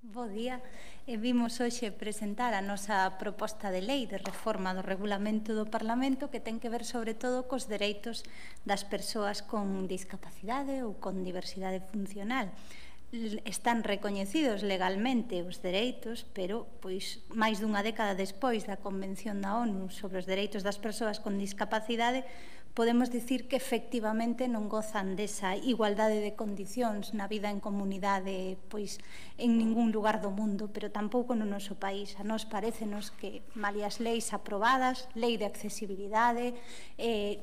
Bo día. Vimos hoxe presentar a nosa proposta de lei de reforma do regulamento do Parlamento que ten que ver sobre todo cos dereitos das persoas con discapacidade ou con diversidade funcional. Están recoñecidos legalmente os dereitos, pero pois máis dunha década despois da Convención da ONU sobre os dereitos das persoas con discapacidade, podemos dicir que efectivamente non gozan desa igualdade de condicións na vida en comunidade pois en ningún lugar do mundo, pero tampouco no noso país. A nós parécenos que, malia as leis aprobadas, lei de accesibilidade,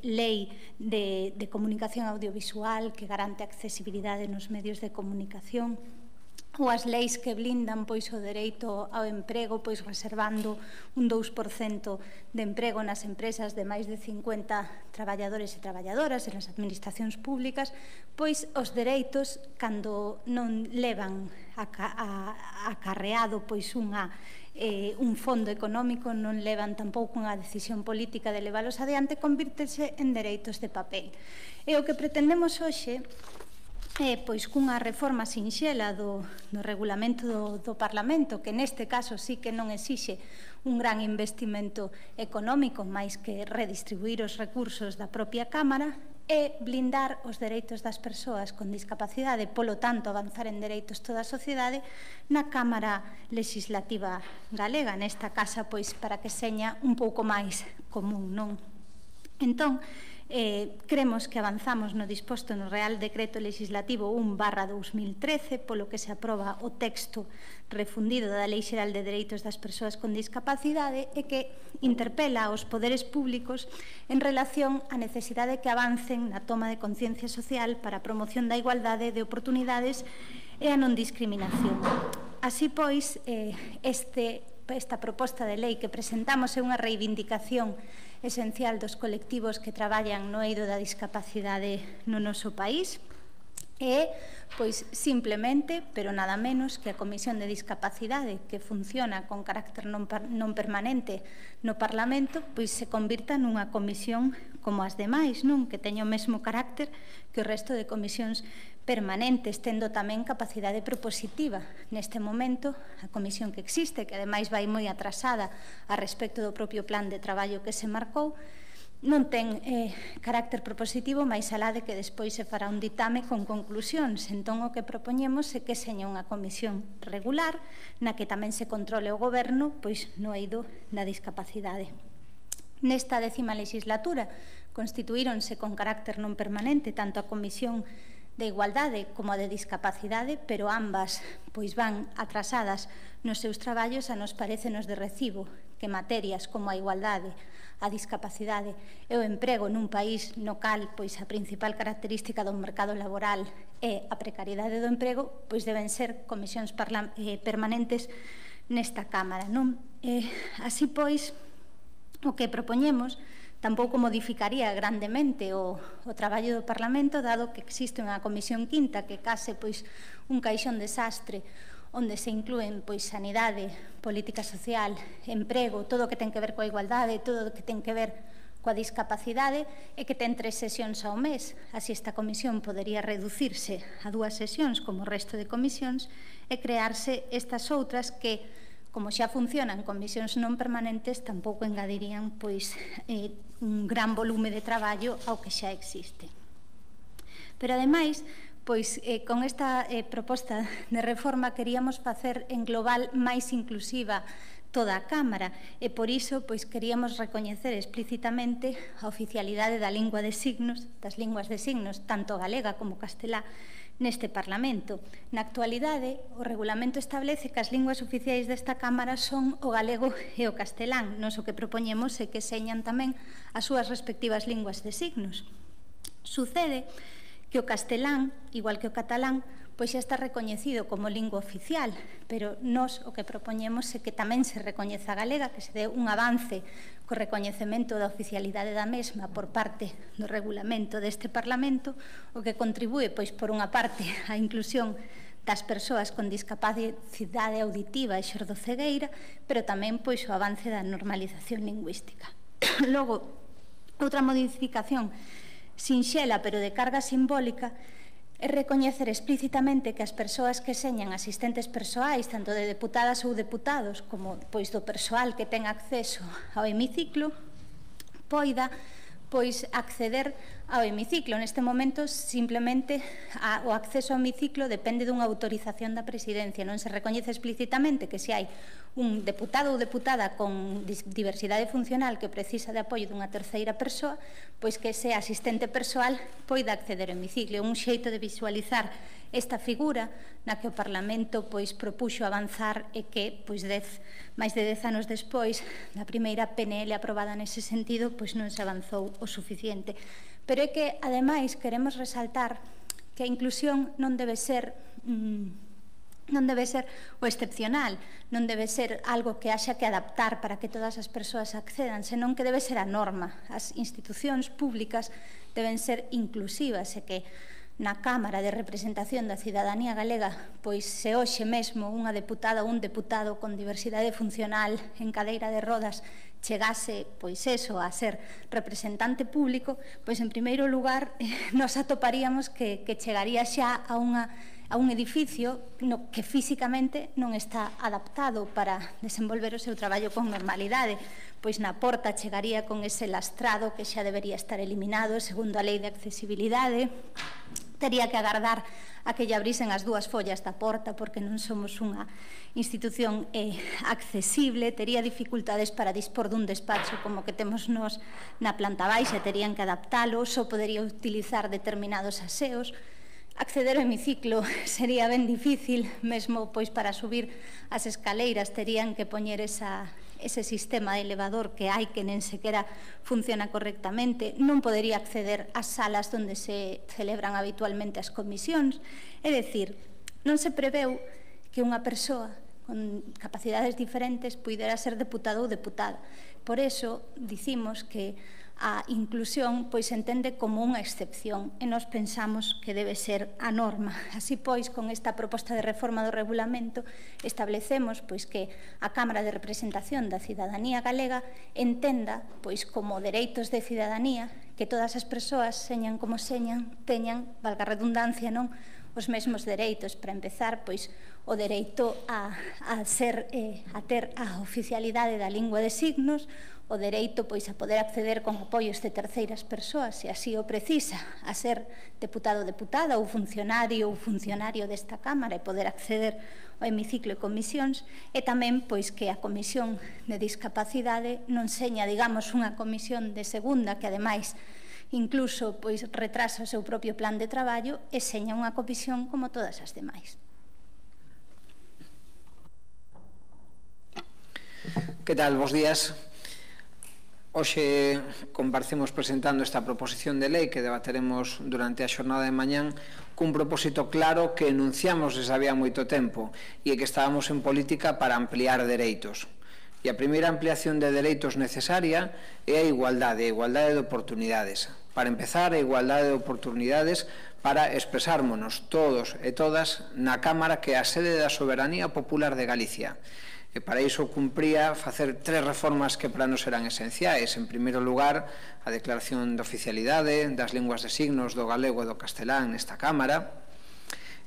lei de comunicación audiovisual que garante a accesibilidade nos medios de comunicación, ou as leis que blindan pois o dereito ao emprego, pois reservando un 2% de emprego nas empresas de máis de 50 traballadores e traballadoras e nas administracións públicas, pois os dereitos, cando non levan acarreado pois un fondo económico, non levan tampouco unha decisión política de leválos adiante, convírtese en dereitos de papel. E o que pretendemos hoxe pois cunha reforma sinxela do regulamento do Parlamento, que neste caso sí que non exixe un gran investimento económico, máis que redistribuir os recursos da propia Cámara, e blindar os dereitos das persoas con discapacidade, polo tanto avanzar en dereitos toda a sociedade na Cámara Legislativa Galega, nesta casa, pois para que seña un pouco máis común, non? Entón, cremos que avanzamos no disposto no Real Decreto Legislativo 1/2013, polo que se aproba o texto refundido da Lei Xeral de Dereitos das Persoas con Discapacidade e que interpela aos poderes públicos en relación á necesidade que avancen na toma de conciencia social para a promoción da igualdade de oportunidades e a non discriminación. Así pois, esta proposta de lei que presentamos é unha reivindicación esencial dos colectivos que traballan no eido da discapacidade no noso país e, pois, simplemente, pero nada menos que a Comisión de Discapacidade, que funciona con carácter non permanente no Parlamento, pois se convirta nunha comisión como as demais, non? Que teña o mesmo carácter que o resto de comisións permanentes, tendo tamén capacidade propositiva. Neste momento, a comisión que existe, que ademais vai moi atrasada a respecto do propio plan de traballo que se marcou, non ten carácter propositivo, máis alá de que despois se fará un ditame con conclusións. Entón, o que propoñemos é que seña unha comisión regular na que tamén se controle o goberno pois no eido da discapacidade. Nesta 10ª legislatura constituíronse con carácter non permanente tanto a Comisión de Igualdade como a de Discapacidade, pero ambas pois van atrasadas nos seus traballos. A nos parecenos de recibo que materias como a igualdade, a discapacidade e o emprego nun país no cal pois a principal característica do mercado laboral é a precariedade do emprego, pois deben ser comisións permanentes nesta Cámara, non? Así pois, o que propoñemos tampouco modificaría grandemente o traballo do Parlamento, dado que existe unha comisión quinta que case pois un caixón desastre onde se inclúen pois sanidade, política social, emprego, todo o que ten que ver coa igualdade, todo o que ten que ver coa discapacidade, e que ten 3 sesións ao mes. Así esta comisión podería reducirse a 2 sesións como o resto de comisións e crearse estas outras que, como xa funcionan comisións non permanentes, tampouco engadirían pois un gran volume de traballo ao que xa existe. Pero ademais, pois con esta proposta de reforma queríamos facer en global máis inclusiva toda a Cámara e por iso pois queríamos recoñecer explícitamente a oficialidade da lingua de signos, das linguas de signos, tanto galega como castelá, neste Parlamento. Na actualidade, o regulamento establece que as linguas oficiais desta Cámara son o galego e o castelán. Nos o que propoñemos é que señan tamén as súas respectivas linguas de signos. Sucede que o castelán, igual que o catalán, pois xa está recoñecido como lingua oficial, pero nós o que propoñemos é que tamén se recoñeza a galega, que se dé un avance co recoñecemento da oficialidade da mesma por parte do regulamento deste Parlamento, o que contribúe, pois, por unha parte, á inclusión das persoas con discapacidade auditiva e xordocegueira, pero tamén, pois, o avance da normalización lingüística. Logo, outra modificación sinxela, pero de carga simbólica, é recoñecer explícitamente que as persoas que señan asistentes persoais, tanto de deputadas ou deputados, como do persoal que ten acceso ao hemiciclo, poida acceder ao hemiciclo. Neste momento, simplemente, o acceso ao hemiciclo depende dunha autorización da Presidencia. Non se recoñece explícitamente que se hai un deputado ou deputada con diversidade funcional que precisa de apoio dunha terceira persoa, pois que ese asistente persoal poida acceder ao hemiciclo. Un xeito de visualizar esta figura na que o Parlamento propuxo avanzar e que máis de 10 anos despois da primeira PNL aprobada nese sentido non se avanzou o suficiente. Pero é que, ademais, queremos resaltar que a inclusión non debe ser o excepcional, non debe ser algo que haxa que adaptar para que todas as persoas accedan, senón que debe ser a norma. As institucións públicas deben ser inclusivas e que na Cámara de Representación da Cidadanía Galega, se hoxe mesmo unha deputada ou un deputado con diversidade funcional en cadeira de rodas chegase, a ser representante público, en primeiro lugar, nos atoparíamos que chegaría xa a un edificio que físicamente non está adaptado para desenvolver o seu traballo con normalidade, na porta chegaría con ese lastrado que xa debería estar eliminado segundo a Lei de Accesibilidade, tería que agardar a que lle abrisen as dúas follas da porta porque non somos unha institución accesible, tería dificultades para dispor dun despacho como que temos nos na planta baixa, terían que adaptalo, só podería utilizar determinados aseos. Acceder ao hemiciclo sería ben difícil, mesmo para subir as escaleiras terían que poñer ese sistema de elevador que hai que nen sequera funciona correctamente, non podería acceder ás salas onde se celebran habitualmente as comisións, é dicir, non se preveu que unha persoa con capacidades diferentes puidera ser deputado ou deputada. Por eso dicimos que a inclusión entende como unha excepción e nós pensamos que debe ser a norma. Así con esta proposta de reforma do regulamento establecemos que a Cámara de Representación da Cidadanía Galega entenda como dereitos de cidadanía que todas as persoas, señan como señan, teñan, valga a redundancia, os mesmos dereitos. Para empezar, o dereito a ter a oficialidade da lingua de signos, o dereito a poder acceder con apoios de terceiras persoas, se así o precisa, a ser deputado ou deputada ou funcionario desta Cámara e poder acceder ao hemiciclo e comisións, e tamén que a Comisión de Discapacidade non seña, digamos, unha comisión de segunda que, ademais, incluso retrasa o seu propio plan de traballo e seña unha comisión como todas as demais. Que tal? Bos días. Hoxe comparecemos presentando esta proposición de lei que debateremos durante a xornada de mañán cun propósito claro que enunciamos desde había moito tempo e que estábamos en política para ampliar dereitos. E a primeira ampliación de dereitos necesaria é a igualdade de oportunidades. Para empezar, a igualdade de oportunidades para expresármonos todos e todas na Cámara que é a sede da soberanía popular de Galicia. E para iso cumpría facer 3 reformas que para nos eran esenciais. En primeiro lugar, a declaración de oficialidade das linguas de signos do galego e do castelán nesta Cámara.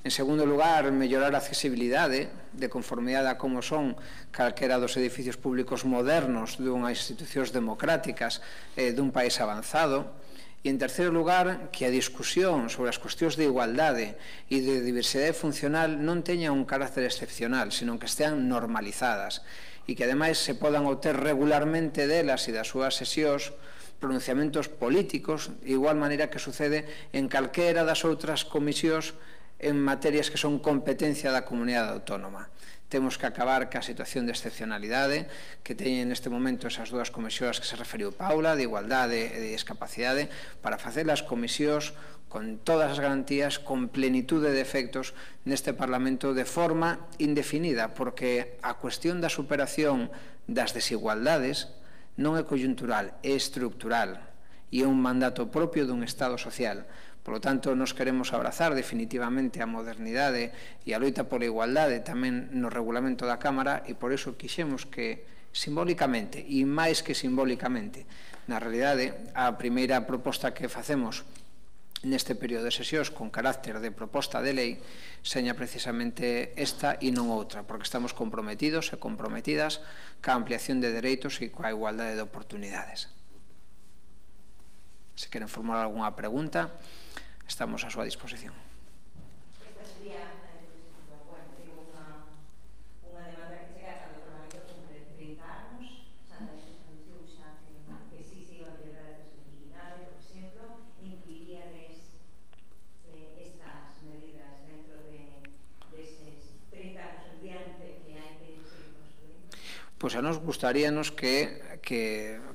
En segundo lugar, mellorar a accesibilidade de conformidade a como son calquera dos edificios públicos modernos dunhas institucións democráticas dun país avanzado. E, en terceiro lugar, que a discusión sobre as cuestións de igualdade e de diversidade funcional non teña un carácter excepcional, senón que estean normalizadas e que, ademais, se podan obter regularmente delas e das súas sesións pronunciamentos políticos, de igual maneira que sucede en calquera das outras comisións en materias que son competencia da comunidade autónoma. Temos que acabar ca situación de excepcionalidade que teñen neste momento esas dúas comisións que se referiu Paula, de igualdade e de discapacidade, para facer as comisións con todas as garantías, con plenitude de efectos neste Parlamento de forma indefinida, porque a cuestión da superación das desigualdades non é coyuntural, é estructural e é un mandato propio dun Estado social. Por lo tanto, nos queremos abrazar definitivamente a modernidade e a loita pola igualdade tamén no regulamento da Cámara e por iso quixemos que simbólicamente, e máis que simbólicamente, na realidade, a primeira proposta que facemos neste período de sesións con carácter de proposta de lei seña precisamente esta e non outra, porque estamos comprometidos e comprometidas ca ampliación de dereitos e coa igualdade de oportunidades. Se queren formular algunha pregunta, estamos a súa disposición. Pois a nos gustaríanos que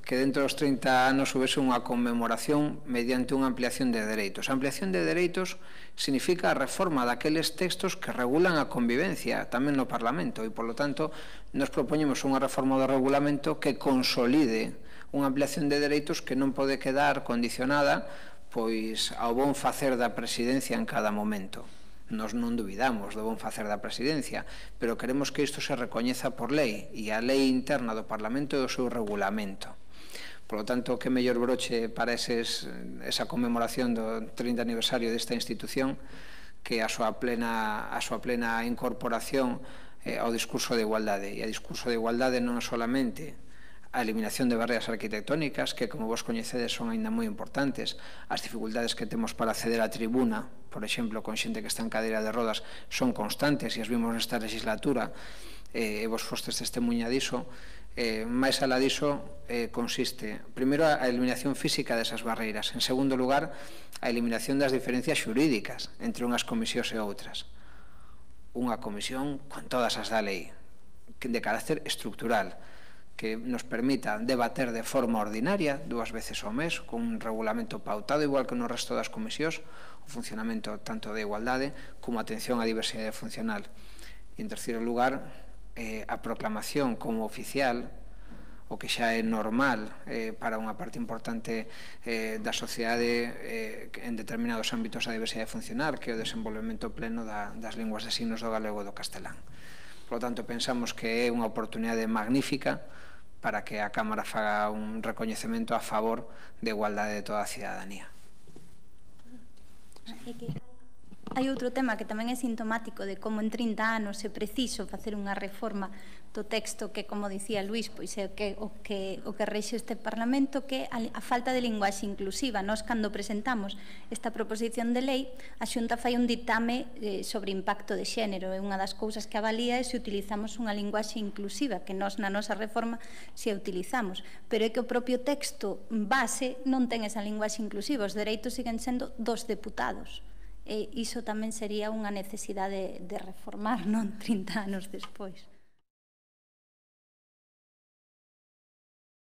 dentro dos 30 anos houvese unha conmemoración mediante unha ampliación de dereitos. A ampliación de dereitos significa a reforma daqueles textos que regulan a convivencia tamén no Parlamento e, polo tanto, nos propoñemos unha reforma do regulamento que consolide unha ampliación de dereitos que non pode quedar condicionada pois ao bon facer da presidencia en cada momento. Nos non dubidamos do bon facer da presidencia, pero queremos que isto se recoñeza por lei, e a lei interna do Parlamento é o seu regulamento. Por lo tanto, que mellor broche para esa conmemoración do 30 aniversario desta institución que a súa plena incorporación ao discurso de igualdade. E a discurso de igualdade non é solamente a eliminación de barreras arquitectónicas, que, como vos coñecedes, son aínda moi importantes. As dificultades que temos para acceder á tribuna, por exemplo, con xente que está en cadeira de rodas, son constantes, e as vimos nesta legislatura, e vos fostes testemunha diso. Máis alá diso, consiste, primeiro, a eliminación física desas barreiras. En segundo lugar, a eliminación das diferencias xurídicas entre unhas comisións e outras. Unha comisión con todas as da lei, de carácter estructural, que nos permita debater de forma ordinaria 2 veces ao mes, con un regulamento pautado, igual que no resto das comisións, o funcionamento tanto de igualdade como a atención á diversidade funcional. E, en terceiro lugar, a proclamación como oficial, o que xa é normal para unha parte importante da sociedade en determinados ámbitos da diversidade funcional, que é o desenvolvemento pleno das linguas de signos do galego e do castelán. Por lo tanto, pensamos que é unha oportunidade magnífica para que a Cámara faga un recoñecemento a favor de igualdade de toda a cidadanía. Hai outro tema que tamén é sintomático de como en 30 anos é preciso facer unha reforma do texto que, como dicía Luís, pois é o que reixe este Parlamento, que a falta de linguaxe inclusiva. Nós, cando presentamos esta proposición de lei, a Xunta fai un ditame sobre impacto de xénero, e unha das cousas que avalía é se utilizamos unha linguaxe inclusiva, que nós na nosa reforma se a utilizamos, pero é que o propio texto base non ten esa linguaxe inclusiva, os dereitos siguen sendo dos deputados. E iso tamén sería unha necesidade de reformar, non 30 anos despois.